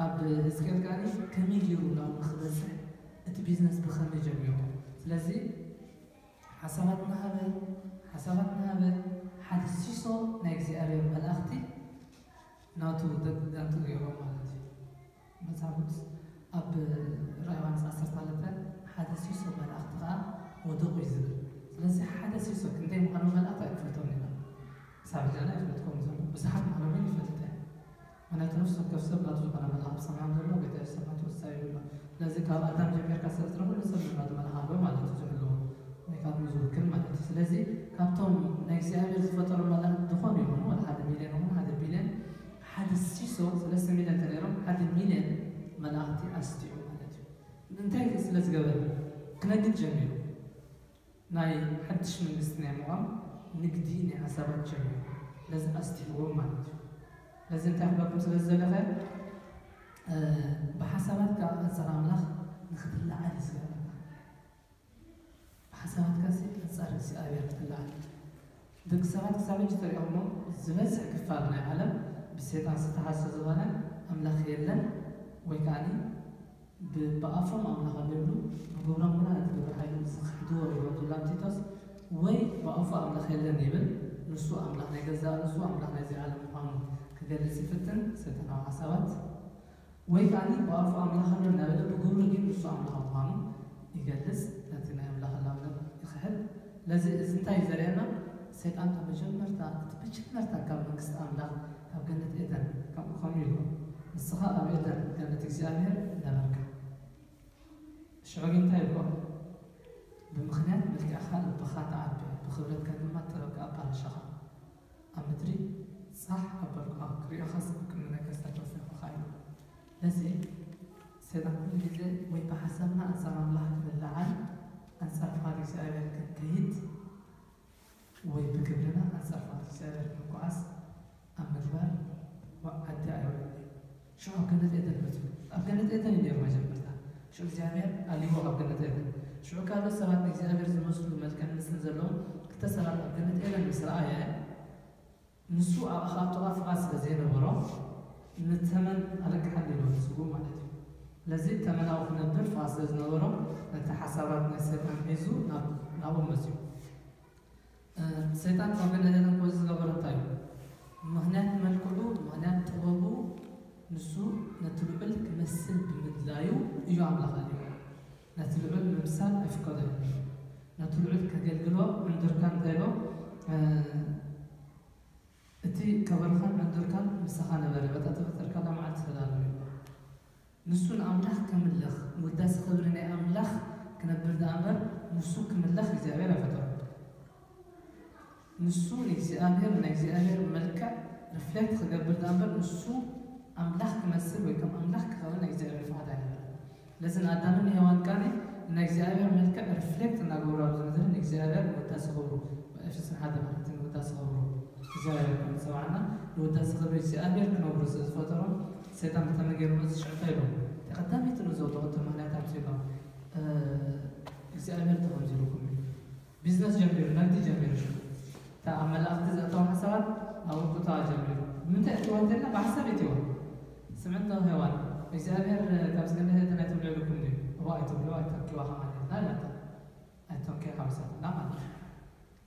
ኣብ ህዝቅኤል ከኣ ከመይ ገይሩ ናብኡ ክበጽሕ፣ እቲ ቢዝነስ ብኸመይ ጀሚሩ። ስለዚ ሓሳባት እናሃበ፣ ሓሳባት እናሃበ፣ ሓደ ሲሶ ናይ እግዚኣብሔር መላእኽቲ ናቱ ደቂ ጋንቱ ገይሮም ማለት እዩ። መጽሓፍ ቅዱስ ኣብ ራእይ ዮሃንስ ዓሰርተ ክልተ ሓደ ሲሶ መላእኽቲ ኸዓ ወደቑ እዩ ዝብል። ስለዚ ሓደ ሲሶ ክንደይ ምዃኖም መላእኽቲ ኣይንፈልጦም ኢና። ክሳብ ሕጂ ኣነ ኣይፈልጥኩምን ዘሎ። ብዙሓት ምዃኖም ግን ይፈልጥ እየ። ምኽንያቱ ነፍሲ ወከፍ ሰብ ናቱ ዝኾነ መልኣኽ ብሰማይ ዘሎ ጎይታ የሱስ ኣብ ሰማይ ተወሳ ይብሎ። ስለዚ ካብ ኣዳም ጀሚርካ ስለ ዝረኸቡ ኩሉ ሰብ ናቱ መልኣኽ ኣለዎ ማለት እዩ ዝሕልዎ ወይ ካብ ዝውክል ማለት እዩ። ስለዚ ካብቶም ናይ እግዚኣብሔር ዝፈጠሩ መላእኽቲ ዝኾኑ ይኹኑ ወላ ሓደ ሚልዮን ይኹን ሓደ ቢልዮን ሓደ ሲሶ ሰለስተ ሚልዮን ተነይሮም ሓደ ሚልዮን መላእኽቲ ኣስጢኡ ማለት እዩ። እንታይ ስለ ዝገበረ ክነግድ ጀሚሩ። ናይ ሓድሽ መንግስቲ ናይ ምቋም ንግዲ ናይ ሓሳባት ጀሚሩ። ስለዚ ኣስጢእዎም ማለት እዩ። ስለዚ እንታይ ክበኩም ስለ ዝደለኸ ብሓሳባትካ ኣንጻር ኣምላኽ ንክትለዓል እዩ ዝገብረካ። ብሓሳባትካ ሲ ኣንጻር እግዚኣብሔር ክትለዓል። ደቂ ሰባት ክሳብ ሕጂ ተሪኦሞ ዝበዝሕ ክፋል ናይ ዓለም ብሰይጣን ዝተሓሰ ዝኾነ ኣምላኽ የለን ወይ ከዓኒ ብኣፎም ኣምላኽ ኣሎ ይብሉ፣ ብግብሮም ግና ነቲ ግብረ ሓይሉ ዝኽሕድዎ እዮም ዝብላ ቲቶስ። ወይ ብኣፉ ኣምላኽ የለን ይብል፣ ንሱ ኣምላኽ ናይ ገዛእ ርእሱ ኣምላኽ ናይዚ ዓለም ምዃኑ ክገልጽ ይፍትን፣ ሰይጣናዊ ሓሳባት። ወይ ከዓኒ ብኣፉ ኣምላኽ ኣሎ እናበለ ብግብሩ ግን ንሱ ኣምላኽ ምዃኑ ይገልጽ፣ ነቲ ናይ ኣምላኽ ህላውነት ይኽሕድ። ስለዚ እዚ እንታይ እዩ ዘርእየና? ሰይጣን ካብ መጀመርታ፣ እቲ መጀመርታ ካብ መንግስቲ ኣምላኽ፣ ካብ ገነት ኤደን ከምኡ ከምኡ ኢልዎ፣ ንስኻ ኣብ ኤደን ገነት እግዚኣብሔር ነበርካ። ሽዑ ግን እንታይ ኢልዎ? ብምኽንያት መልክዕኻ ልብኻ ተዓቢ፣ ብኽብረትካ ድማ ጥበብ ኣባላሸኻ። ኣብ ምድሪ ጻሕ ኣበልኩኻ፣ ክርእዮኻስ ኣብ ክንዲ ነገስታት ወሰኽኹኻ ኢሉ። ስለዚ ሰይጣን ኩሉ ግዜ ወይ ብሓሳብና ኣንጻር ኣምላኽ ክንለዓል፣ ኣንጻር ፍቓድ እግዚኣብሔር ክንከይድ፣ ወይ ብግብርና ኣንጻር ፍቓድ እግዚኣብሔር ክንጓዓዝ ኣብ ምግባር ዓዲ ኣይውዕልን እዩ። ሽዑ ኣብ ገነት ኤደን መጺኡ። ኣብ ገነት ኤደን እዩ ነይሩ መጀመርታ። ሽዑ እግዚኣብሔር ኣልይዎ ካብ ገነት ኤደን። ሽዑ ካልኦት ሰባት ንእግዚኣብሔር ዝመስሉ መልክዕን ምስልን ዘለዎም ክልተ ሰባት ኣብ ገነት ኤደን ምስ ረኣየ፣ ንሱ ኣብ ኣኻልቶኻ ፍቓድ ስለ ዘይነበሮ፣ ንተመን ኣለቅሓኒ ኢሉ ስጉም ማለት እዩ። ስለዚ ተመናዊ ክነብር ፍቓድ ስለ ዝነበሮ፣ ነቲ ሓሳባት ናይ ሰይጣን ሒዙ ናብ-፣ ናብኡ መጺኡ። እ፣ ሰይጣን ካብ ገነት ኤደን ክወጽእ ዝገበሮ እንታይ እዩ? ምኽንያት መልክዑ፣ ምኽንያት ጥበቡ፣ ንሱ ነቲ ልዑል ክመስል ብምድላዩ እዩ ኣምላኽ ኣልይዎ። ነቲ ልዑል ምምሳል ኣይፍቀዶ እዩ። ነቲ ልዑል ከገልግሎ ዕንዱርካን እንታይ ኢሎ? እ፣ እቲ ከበሮኻን ዕንዱርካን ምሳኻ ነበረ፣ በታ ተፈጠርካላ መዓልቲ ተዳሎ እዩ። ንሱ ንኣምላኽ ከምልኽ፣ ንውዳሴ ክብሪ ናይ ኣምላኽ ክነብር ደኣ እምበር፣ ንሱ ክምለኽ እግዚኣብሔር ኣይፈጠሮ። ንሱ ንእግዚኣብሔር፣ ናይ እግዚኣብሔር መልክዕ ሪፍሌክት ክገብር ደኣ እምበር፣ ንሱ ኣምላኽ ክመስል ወይ ከም ኣምላኽ ክኸውን ናይ እግዚኣብሔር ፍቓድ ኣይነበረን። ስለዚ ንኣዳምን ንሄዋን ከኣ ናይ እግዚኣብሔር መልክዕ ሪፍሌክት እናገበሩ ኣብዚ ምድሪ ንእግዚኣብሔር ንውዳሴ ክብሩ፣ ኤፌሶን ሓደ ማለት እዩ፣ ንውዳሴ ክብሩ እግዚኣብሔር ከም ዝጸዋዕና ንውዳሴ ክብሪ እግዚኣብሔር ክነብሩ ስለ ዝፈጠሮም፣ ሰይጣን ብኸመይ ገይሩ መጽእ ሽዑ እንታይ ኢሎም? እቲ ቀዳመይቲ ንዘውተወቶ ምኽንያት ኣምጺእሎም፣ እ፣ እግዚኣብሔር ተኸምዚልኩም እዩ። ቢዝነስ ጀሚሩ፣ ነግዲ ጀሚሩ ሽዑ። እታ ኣብ መላእኽቲ ዘእተዋ ሓሳባት ኣብ ውልቁ ተዋ ጀሚሩ። ንምንታይ እትዋ እንተልና ብሓሳብ እትዋ። ስምዕቶ ሄዋን፣ እግዚኣብሔር ካብዚ ገነት ኤደን ኣይትብልዑ ኢሉኩም ድዩ? እዋ ኣይትብልዑ፣ ኣይተንኪዋ ከማን ኢልና ኢላታ። ኣይተንኪ ሓዊሳትና ማለት እዩ።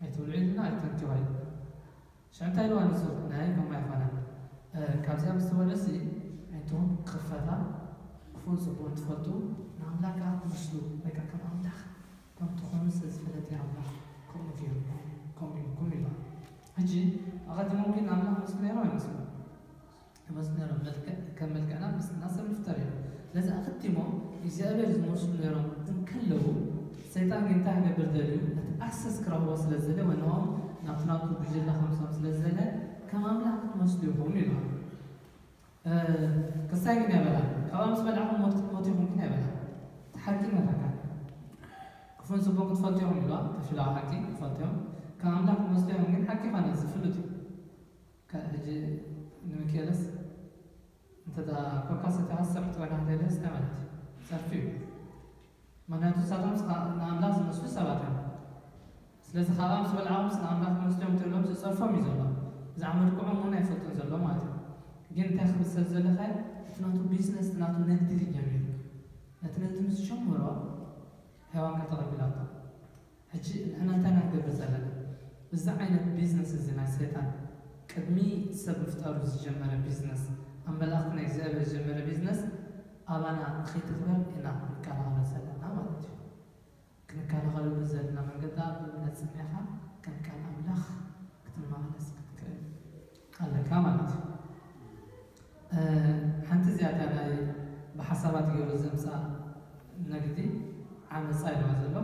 ኣይትብልዑ ኢልና ኣይተንኪዋ ኢሉ። ሽዑ እንታይ ኢልዋ ንሱ? ናይ ከምኡ ኣይኮነን። እ፣ ካብዚኣ ምስ ትበልዑ ሲ፣ ዓይንትኹም ክኽፈታ፣ ክፉእን ጽቡቕን ትፈልጡ፣ ንኣምላኽ ከኣ ትመስሉ፣ ወይ ከኣ ከም ኣምላኽ ከም ትኾኑ ስለ ዝፈለጠ ኣምላኽ ከምኡ ገይሩ፣ ከምኡ ኢልኩም ኢልዋ። ሕጂ ኣቐዲሞም ግን ኣምላኽ መስሉ ነይሮም ኣይመስሉን? ይመስሉ ነይሮም። መልክዕ፣ ከም መልክዕና ምስልና ሰብ ንፍጠር እዮም። ስለዚ ኣቐዲሞም እግዚኣብሔር ዝመስሉ ነይሮም እንከለዉ፣ ሰይጣን ግን እንታይ ክገብር ደልዩ? ነቲ ኣክሰስ ክረኽቦ ስለ ዝደለየ፣ ወይ ንኦም ናብቲ ናቱ ጉጅለ ከምስኦም ስለ ዝደለየ፣ ከም ኣምላኽ ክትመስሉ ኢኹም ኢልዋ። እ፣ ክሳይ ግን ኣይበላን። ካብኣ ምስ በላዕኩም ሞት ክትሞቱ ኢኹም ግን ኣይበላን። እቲ ሓቂ መረካ። ክፉን ጽቡቕ ክትፈልጡ ኢኹም ኢልዋ፣ ተፊላዊ ሓቂ ክትፈልጡ ኢኹም። ከም ኣምላኽ ክትመስሉ ኢኹም ግን ሓቂ ይኾነ፣ እዚ ፍሉጥ እዩ። ከ-፣ ሕጂ ንሚካኤልስ እንተ ደኣ ኮካ ሰቲኻ ዝጸርፍ ጥበና እንተይልስ እንታይ ማለት እዩ? ጸርፊ እዩ። ምኽንያቱ ንሳቶም ንኣምላኽ ዝመስሉ ሰባት እዮም። ስለዚ ካብኣ ምስ በልዓኹምስ ንኣምላኽ ክመስሉ እዮም ትብሎም ዝጸርፎም እዩ ዘሎ። ብዛዕባ መልክዖም እውን ኣይፈልጡን ዘሎ ማለት እዩ። ግን እንታይ ክብል ስለ ዝደለኻ፣ እቲ ናቱ ቢዝነስ፣ እቲ ናቱ ንግዲ ድዩ ጀሚሩ? ነቲ ንግዲ ምስ ጀመሮ፣ ሄዋን ከተቐቢላቶ። ሕጂ ንሕና እንታይ ኢና ክንገብር ዘለና? እዚ ዓይነት ቢዝነስ እዚ ናይ ሰይጣን ቅድሚ ሰብ ምፍጣሩ ዝጀመረ ቢዝነስ፣ ኣብ መላእኽቲ ናይ እግዚኣብሔር ዝጀመረ ቢዝነስ ኣባና ንኸይትኽበር ኢና ክንከላኸሎ ዘለና ማለት እዩ። ክንከላኸለሉ ዘለና መንገዲ ኣብ እምነት ጸኒዕኻ ከም ቃል ኣምላኽ ክትመላለስ ክትክእል ኣለካ ማለት እዩ። ሓንቲ እዚኣታ ናይ ብሓሳባት ገይሩ ዘምፃ ነግዲ ዓመፃ ኢልዋ ዘሎ።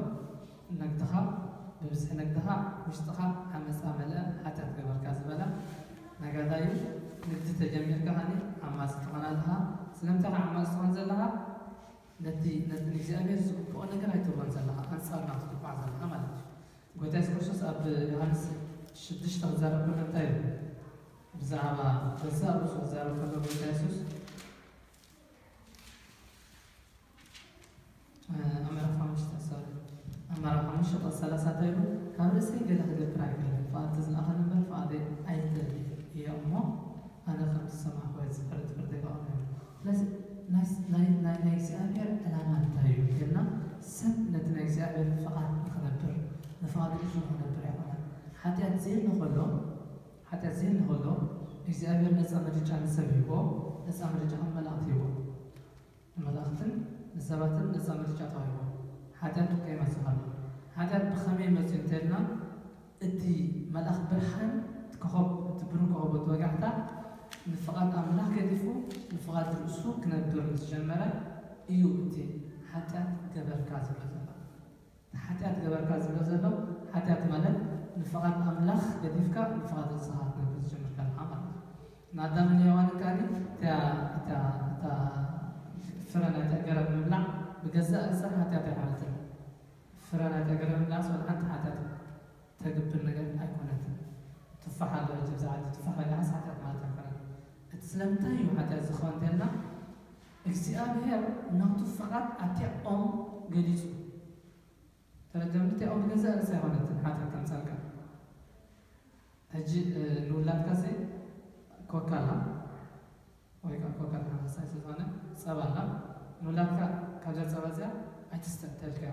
ነግድኻ ብብዝሒ ነግድኻ ውሽጥኻ ዓመፃ መለአ ሓጢኣት ገበርካ ዝበላ ነጋዳዩ ንግዲ ተጀሚርካ ከኒ ዓማፂ ትኾን ኣለኻ። ስለምንታይ ዓማፂ ትኾን ዘለኻ? ነቲ ነቲ ንእግዚኣብሔር ዝግብኦ ነገር ኣይትብሎን ዘለኻ፣ ኣንፃር ናቱ ትጓዕ ዘለኻ ማለት እዩ። ጎይታ የሱስ ክርስቶስ ኣብ ዮሃንስ ሽዱሽተ ክዛረብ ከሎ እንታይ እዩ? ብዛዕባ ገዛእ ርእሱ ክዛረብ ከሎ ጎይታ የሱስ ኣመራ ሓሙሽተ ሶሪ ኣመራ ሓሙሽተ ቁፅሪ ሰላሳ እንታይ ኢሉ? ካብ ርእሰይ ገለ ክገብር ኣይክእልን፣ ፍቓድ ዝለኣኸኒ እምበር ፍቓደይ ኣይደልን እየ እሞ ኣነ ከም ዝሰማዕኩ ዝፍርድ ፍርደይ ከቕርብ እየ። ስለዚ ናይ ናይ ናይ እግዚኣብሔር ዕላማ እንታይ እዩ ኢልና ሰብ ነቲ ናይ እግዚኣብሔር ፍቓድ ንኽነብር ንፍቓድ ርእሱ ንኽነብር ኣይኮነን። ሓጢኣት ዘየለ ከሎ ሓጢኣት ዘየለ ከሎ እግዚኣብሔር ነፃ ምርጫ ንሰብ ይህቦ፣ ነፃ ምርጫ ከም መላእክት ይህቦ። ንመላእኽትን ንሰባትን ነፃ ምርጫ ተዋሂቦም። ሓጢኣት ከይመፅእ ከሎ ሓጢኣት ብኸመይ መፅኡ እንተልና እቲ መልኣኽ ብርሃን እቲ ኮኸብ እቲ ብሩህ ኮኸብ እቲ ወጋሕታ ንፍቓድ ኣምላኽ ገዲፉ ንፍቓድ ርእሱ ክነብር ምስ ጀመረ እዩ እቲ ሓጢኣት ገበርካ ዝብሎ ዘሎ። ሓጢኣት ገበርካ ዝብሎ ዘሎ ሓጢኣት ማለት ንፍቓድ ኣምላኽ ገዲፍካ ንፍቓድ ርእስኻ ክትነብር ዝጀመርካ ኣለኻ ማለት እዩ። ንኣዳምን ንሄዋንን ከኣ እታ እታ እታ ፍረ ናይታ ገረብ ምብላዕ ብገዛእ ርእሳ ሓጢኣት ኣይኮነትን። ፍረ ናይታ ገረብ ምብላዕስ ወላ ሓንቲ ሓጢኣት ተግብር ነገር ኣይኮነትን። ቱፋሕ ኣሎ ሕጂ ብዛዕባ እቲ ቱፋሕ በሊዓስ ሓጢኣት ማለት ኣይኮነን። እቲ ስለምንታይ እዩ ሓጢኣት ዝኸውን እንተልና እግዚኣብሔር ናቱ ፍቓድ ኣብቲ ኦም ገሊጹ። ተረድኦም ድቲ ኦም ብገዛእ ርእሳ ኣይኮነትን ሓጢኣት ተምጻልካ። ሕጂ ንውላድካ ሲ ኮካ ኣላ ወይ ከዓ ኮካ ተመሳሳይ ስለዝኾነ ጸባ ኣላ። ንውላድካ ካብዛ ጸባ እዚኣ ኣይትስተ ተልካዮ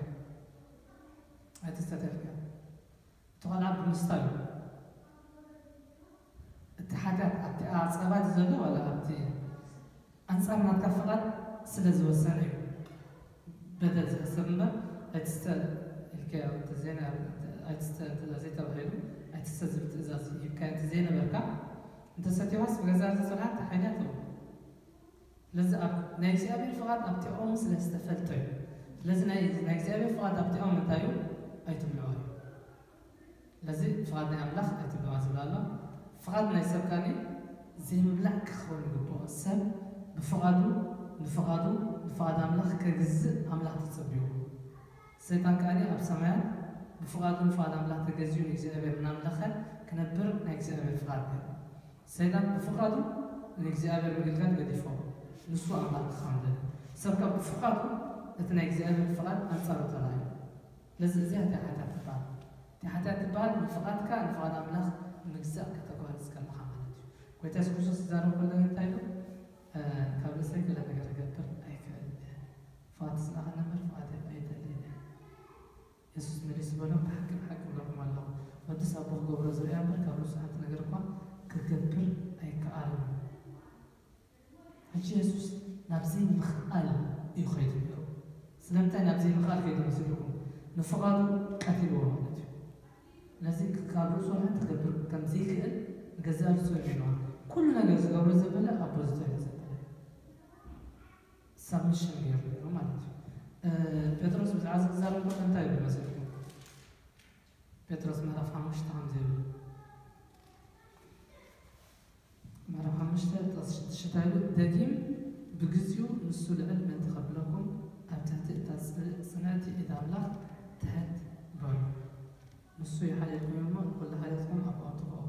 ኣይትስተ ተልካዮ። እቲ ቆልዓ ብምስታዩ እቲ ሓጢኣት ኣብቲ ጸባ ዘሎ ዋላ ኣብቲ ኣንጻር ናትካ ፍቓድ ስለ ዝወሰነ እዩ በደል ዝሕሰብ እምበር ኣይትስተ ኢልካዮ እንተዘይነ ኣይትስተ ትእዛዝ ተባሂሉ ኣይትስተ ዝብል ትእዛዝ ሂብካዮ እንተዘይነበርካ እንተሰቲኻስ ብገዛ ርእስኻ ሓጢኣት እዩ። ስለዚ ኣብ ናይ እግዚኣብሔር ፍቓድ ኣብቲኦም ስለ ዝተፈልጠ እዩ። ስለዚ ናይ እግዚኣብሔር ፍቓድ ኣብቲኦም እንታይ እዩ? ኣይትብልዖ እዩ። ስለዚ ፍቓድ ናይ ኣምላኽ ኣይትብልዖ ዝብል ኣሎ። ፍቓድ ናይ ሰብ ካኒ ዘይምብላዕ ክኸውን ይግብኦ። ሰብ ብፍቓዱ ንፍቓዱ ንፍቓድ ኣምላኽ ከግዝእ ኣምላኽ ተጸብይዎ። ሰይጣን ከኣኒ ኣብ ሰማያት ብፍቓዱ ንፍቓድ ኣምላኽ ተገዚኡ ንእግዚኣብሔር እናምለኸ ክነብር ናይ እግዚኣብሔር ፍቓድ ነይሩ። ሰይጣን ብፍቓዱ ንእግዚኣብሔር ምግልጋል ገዲፎ ንሱ ኣምላኽ ክኸውን ደለ። ሰብ ካብ ብፍቓዱ እቲ ናይ እግዚኣብሔር ፍቓድ ኣንጻሩ ተራእዩ። ስለዚ እዚኣ እታ ሓጢኣት ትበሃል። እታ ሓጢኣት ትበሃል ንፍቓድካ ንፍቓድ ኣምላኽ ምግዛእ ከተጓርዝ ከለኻ ማለት እዩ። ጎይታ የሱስ ክርስቶስ ዝዛረብ ከሎ እንታይ ኢሉ? ካብ ርእሰይ ገለ ነገር ክገብር ኣይክእልን እየ። ፍቓድ ዝለኣኸኒ እምበር ፍቓደይ ኣይደልን እየ። የሱስ መሊሱ በሎም፣ ብሓቂ ብሓቂ እብለኩም ኣለኹ፣ ወድስ ኣቦ ክገብሮ ዝርእያ እምበር ካብ ርእሱ ሓንቲ ነገር እኳ ክገብር ኣይከኣልን። ሕጂ የሱስ ናብ ዘይምኽኣል እዩ ከይዱ ነይሩ። ስለምንታይ ናብ ዘይምኽኣል ከይዱ መሲልኩም? ንፍቓዱ ቀቲልዎ ማለት እዩ። ስለዚ ካብ ርእሱ ሓንቲ ክገብር ከም ዘይክእል ንገዛእ ርእሱ የመልዋ። ኩሉ ነገር ዝገብሮ ዘበለ ኣቦ ዝደልዮ ዘበለ ሳብሚሽን ገይሩ ነይሩ ማለት እዩ። ጴጥሮስ ብዛዕባ እዚ ክዛረብ ከሎ እንታይ ይብል መሲልኩም? ጴጥሮስ ምዕራፍ ሓሙሽተ ከምዚ ይብል። ምዕራፍ ሓሙሽተ ጥቕሲ ሽዱሽተ እንታይ ይብል? ደጊም ብግዚኡ ንሱ ልዕል ምእንቲ ከብለኩም ኣብ ትሕቲ እታ ጽንዕቲ ኢድ ኣምላኽ ትሕት በሉ። ንሱ ይሓልየልኩም እሞ ንኹሉ ሓልዮትኩም ኣብ ኣውትኽኦ።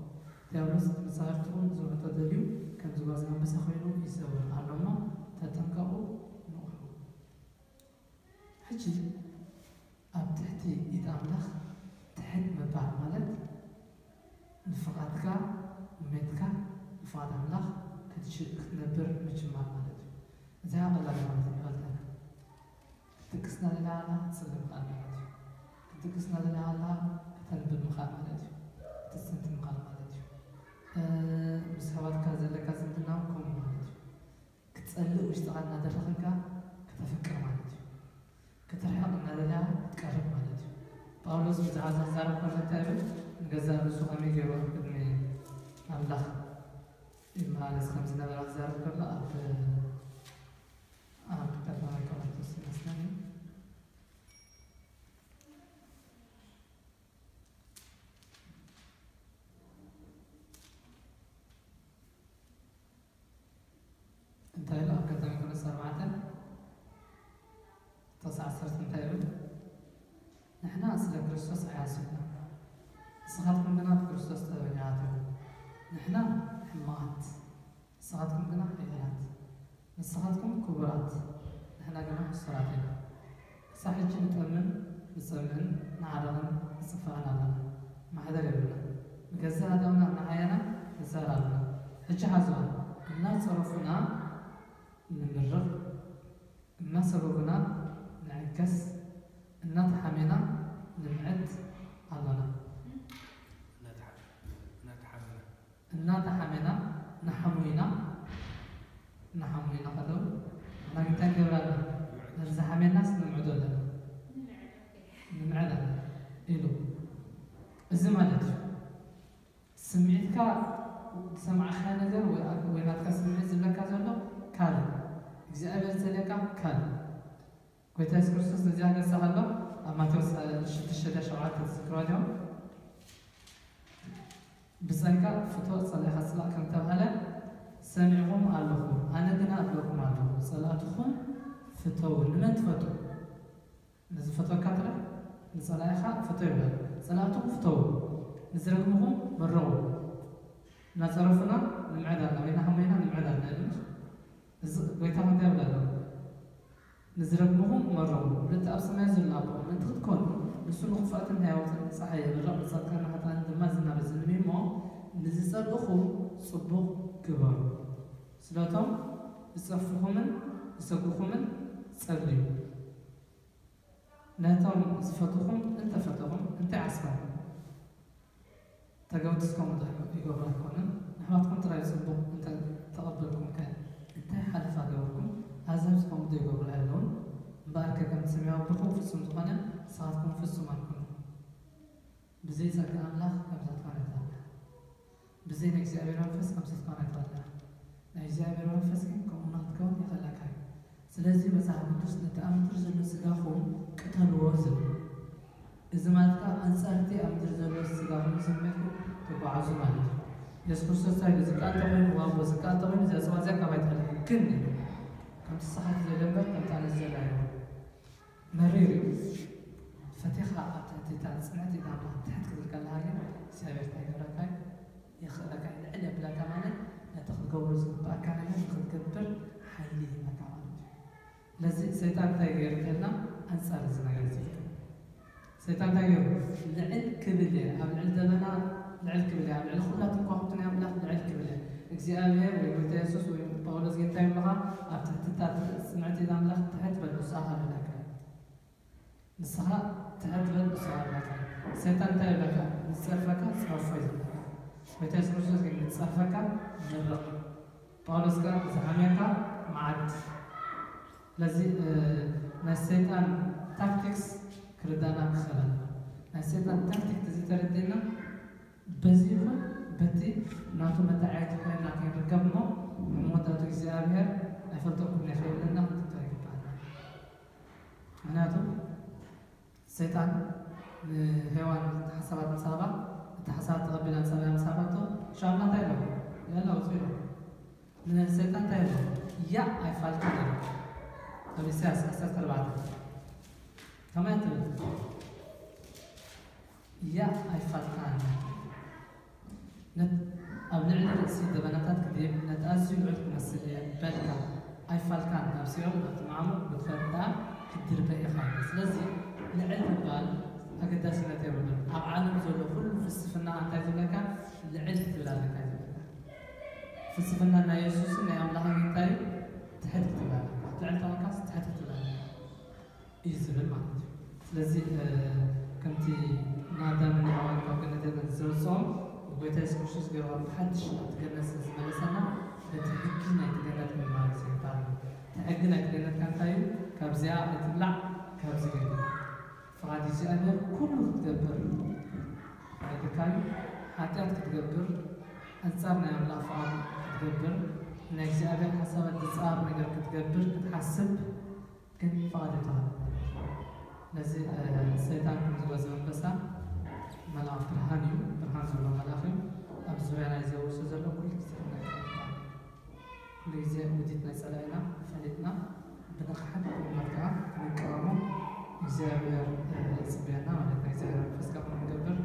ዲያብሎስ መጻወርትኹም ዝውሕጦ ደልዩ ከም ዝጓዝ ኣንበሳ ኮይኑ ይዘውር ኣሎ እሞ ተጠንቀቑ፣ ንቕሑ። ሕጂ ኣብ ትሕቲ ኢድ ኣምላኽ ትሕት ምባል ማለት ንፍቓድካ ንሜትካ ንፍቓድ ኣምላኽ ክትነብር ምጅማር ማለት እዩ። እዚኣ ቀላል ማለት ይፈልጠና ክትድቅስ እናደለኻ ክትጽሊ ምኽኣል ማለት እዩ። ክትድቅስ እናደለኻ ከተንብብ ምኽኣል ማለት እዩ። ክትጽንት ምኽኣል ማለት እዩ። ዝዛረብ ከሎ እንታይ ይብል? ንገዛእ ርእሱ ከመይ ገይሩ ኣብ ቅድሚ ኣምላኽ ይመላለስ ከም ዝነበረ ክዛረብ ከሎ ኣብ ኣብ ቀዳማይ ቆሮንቶስ ይመስለኒ። እንታይ ኢሉ ኣብ ቀዳማይ ቆሮንቶስ ኣርባዕተ ጥቕሲ ዓሰርተ እንታይ ይብል? ንሕና ስለ ክርስቶስ ዓያሹ ኢና፣ ንስኻትኩም ግና ብክርስቶስ ጥበበኛታት ኢኹም። ንሕና ሕማቓት፣ ንስኻትኩም ግና ሓያላት። ንስኻትኩም ክቡራት፣ ንሕና ግና ሕሱራት ኢና። ክሳብ ሕጂ ንጠምን ንጸምእን ንዓረቕን ንጽፋእን ኣለና። ማሕደር የብልናን። ንገዛእ ኣእዳውና እናዓየና ንዛር ኣለና። ሕጂ ሓዝዋ፣ እናጸረፉና ንምርቕ፣ እናሰጎጉና ንዕገስ፣ እናተሓሜና ንምዕድ ኣሎና። እናተሓ-፣ እናተሓሜና። እናተሓሜና ንሓሙ ኢና። ንሓሙ ኢና ከለዉ ንሕና ግን እንታይ ንገብር ኣለና? ነቲ ዝሓሜናስ ንምዕዶ ኣለና። ንምዕድ ኣለና ኢሉ። እዚ ማለት እዩ። ስምዒትካ ዝሰማዕካዮ ነገር ወይ፣ ወይ ናትካ ስምዒት ዝብለካ ዘሎ ካልእ፣ እግዚኣብሔር ዝደልየካ ካልእ። ጎይታ የሱስ ክርስቶስ ነዚኣ ገጻ ከሎ ኣብ ማቴዎስ ሽዱሽተ ሸውዓተ ትዝክርዋ ዲኹም? ብጸጋ ፍቶ ጸላኢኻ ጽላእ ከም ተባህለ ሰሚዕኹም ኣለኹም፣ ኣነ ግና እብለኩም ኣለኹ፣ ጸላእትኹም ፍተዉ። ንመን ትፈቱ? ንዝፈትወካ ጥራሕ ንጸላኢኻ ፍቶ ይብለካ። ጸላእትኹም ፍተዉ፣ ንዝረግምኹም መርቑ። እናጸረፉና ንምዕድ ኣለና ወይ እናሓመዩና ንምዕድ ኣለና ይብል። እዚ ጎይታ እንታይ ይብል ኣሎ? ንዝረግምኹም መርቑ፣ ምእንቲ ኣብ ሰማይ ዘሎ ኣቦኹም ምእንቲ ክትኮኑ፣ ንሱ ንኽፉኣትን ንህያውትን ጸሓይ የብርቕ፣ ንጻድቃንን ንሓጥኣንን ድማ ዝናብ የዝንብ እዩ እሞ፣ ንዝጸልእኹም ጽቡቕ ግበሩ። ስለቶም ዝጸፍኹምን ዝሰጉኹምን ጸልዩ። ነቶም ዝፈትኹም እንተፈተኹም እንታይ ዓስቦም? ተገውቲ እስከምኡ ዶ ይገብሩ ኣይኮኑን? ንኣሕዋትኩም ጥራይ ጽቡቕ እንተ ተቐበልኩምከ እንታይ ሓለፋ ገበርኩም? ኣህዛብስ ከምኡ ዶ ይገብሩ ኣይኣለዉን? እምበኣርከ ከምቲ ሰማያዊ ኣቦኹም ፍጹም ዝኾነ ንስኻትኩም ፍጹማት ኩኑ። ብዘይ ጸጋ ኣምላኽ ከምዚ ክትኮን ኣይትኽእልን። ብዘይ ናይ እግዚኣብሔር መንፈስ ከምዚ ክትኮን ኣይትኽእልን። ናይ እግዚኣብሔር መንፈስ ግን ከምኡ ንኽትከውን ይኽእለካ እዩ። ስለዚ መጽሓፍ ቅዱስ ነቲ ኣብ ምድሪ ዘሎ ስጋኹም ቅተልዎ ዝብል። እዚ ማለት ከኣ ኣንጻር እቲ ኣብ ምድሪ ዘሎ ስጋኹም ስምዒትኩም ትጓዓዙ ማለት እዩ። የሱስ ክርስቶስ እንታይ ኢሉ? ዝከኣል እንተኾይኑ ዋንቦ፣ ዝከኣል እንተኾይኑ እዚኣ ጽዋ እዚኣ ካባይ ትሕለፍ። ግን ከምቲ ንስኻ ትደልዮ እምበር ከምቲ ኣነ ዝደሊ ኣይኮነን። መሪር እዩ። ፈቲኻ ኣብ ትሕቲ እታ ጽንዕቲ ኢድ ኣምላኽ ትሕት ክትብል ከለኻ ግን እግዚኣብሔር እንታይ ይገብረካ እዩ? የኽእለካ እዩ። ልዕል የብለካ ማለት ነቲ ክትገብሮ ዝግብኣካ ነገር ንኽትገብር ሓይሊ ይህበካ ማለት እዩ። ስለዚ ሰይጣን እንታይ ገይሩ እንተልና ኣንጻር እዚ ነገር እዚ ገይሩ። ሰይጣን እንታይ ገይሩ? ልዕል ክብል እየ፣ ኣብ ልዕሊ ደበና ልዕል ክብል እየ፣ ኣብ ልዕሊ ኩላቶም ከዋኽብቲ ናይ ኣምላኽ ልዕል ክብል እየ። እግዚኣብሔር ወይ ጎይታ የሱስ ወይ ጳውሎስ ግን እንታይ ይብሉኻ? ኣብ ትሕቲ እታ ጽንዕቲ ኢድ ኣምላኽ ትሕት በል፣ ንስኻ ከብለካ እዩ። ንስኻ ትሕት በል፣ ንስኻ ከብለካ እዩ። ሰይጣን እንታይ ይብለካ? ንዝጸርፈካ ጸርፎ እዩ ዝብለካ። ጎይታ የሱስ ክርስቶስ ግን ንዝጸርፈካ ምርቕ። ጳውሎስ ከኣ ንዝሓምየካ መዓድ። ስለዚ፣ እ፣ ናይ ሰይጣን ታክቲክስ ክርዳእና ክኽእል ኣለዎ። ናይ ሰይጣን ታክቲክ ተዘይተረዲእና በዚ ይኹን በቲ ናቱ መተዓየቲ ኮይና ከይንርከብ እሞ ንመወዳእቱ እግዚኣብሔር ኣይፈልጠኩምን እየ ከይብለና ክንጥንቀቕ ይግባኣና። ምኽንያቱ ሰይጣን ንሄዋን ሓሳባት ምስ ሃባ፣ እቲ ሓሳባት ተቐቢላ ጸላኢ ምስ ሃባቶ፣ ሽዑ ኣምላኽ እንታይ ኢሎ? ያላ ውጹ ኢሎ። ንሰይጣን እንታይ ኢሎ? ያ ኣይፋልካን ኢሎ። ኣብ ኢሳያስ ዓሰርተ ኣርባዕተ ከመይ ትብል? ያ ኣይፋልካን። ነት-፣ ኣብ ልዕሊ ርእሲ ደበናታት ክድይብ፣ ነቲ ኣዝዩ ልዑል ክመስል እየ በልካ። ኣይፋልካን፣ ናብ ሲኦል፣ ናብቲ መዓሙቕ ጉድጓድ ደኣ ክትድርበ ኢኻ። ስለዚ፣ ልዕል ምባል ኣገዳስነት የብሉን። ኣብ ዓለም ዘሎ ኩሉ ፍልስፍና እንታይ ዝብለካ? ልዕል ክትብል ኣለካ እዩ ዝብለካ። ፍልስፍና ናይ የሱስን ናይ ኣምላኽን እንታይ እዩ? ትሕት ክትብል ኣለካ። ልዕል ተኾንካስ ትሕት ክትብል ኣለካ። እዩ ዝብል ማለት እዩ። ስለዚ፣ እ፣ ከምቲ ንኣዳምን ንሄዋን ካብ ገነት ኤደን ዘውጽኦም፣ ጎይታ የሱስ ክርስቶስ ገይሩ ብሓድሽ ናብቲ ገነት ስለ ዝመለሰና፣ በቲ ሕጊ ናይቲ ገነት ምንባር እዚ ይበሃል። እቲ ሕጊ ናይቲ ገነት ከ እንታይ እዩ? ካብዚኣ ኣይትብላዕ፣ ካብዚ ግን ፍቓድ እግዚኣብሔር ኩሉ ክትገብር ክትገብር፣ ኣንጻር ናይ ኣምላኽ ፍቓድ ክትገብር፣ ናይ እግዚኣብሔር ሓሳባት ዝጻረር ነገር ክትገብር ክትሓስብ ግን ፍቓድ ይበሃል። ስለዚ ሰይጣን ከምዚ ጓዝ ኣንበሳ መልኣኽ ብርሃን እዩ፣ ብርሃን ዘለዎ መልኣኽ እዩ። ኣብ ዙርያ ናይ ዘውሱ ዘሎ ኩሉ ግዜ ክነቅፍ ይበሃል። ኩሉ ግዜ ውዲት ናይ ጸላኢና ፈሊጥና ብንቕሓት ብመርትዖ ክንቃወሞ እግዚኣብሔር ይጽበየና ማለት ነው። እግዚኣብሔር መንፈስ ካብ ክንገብር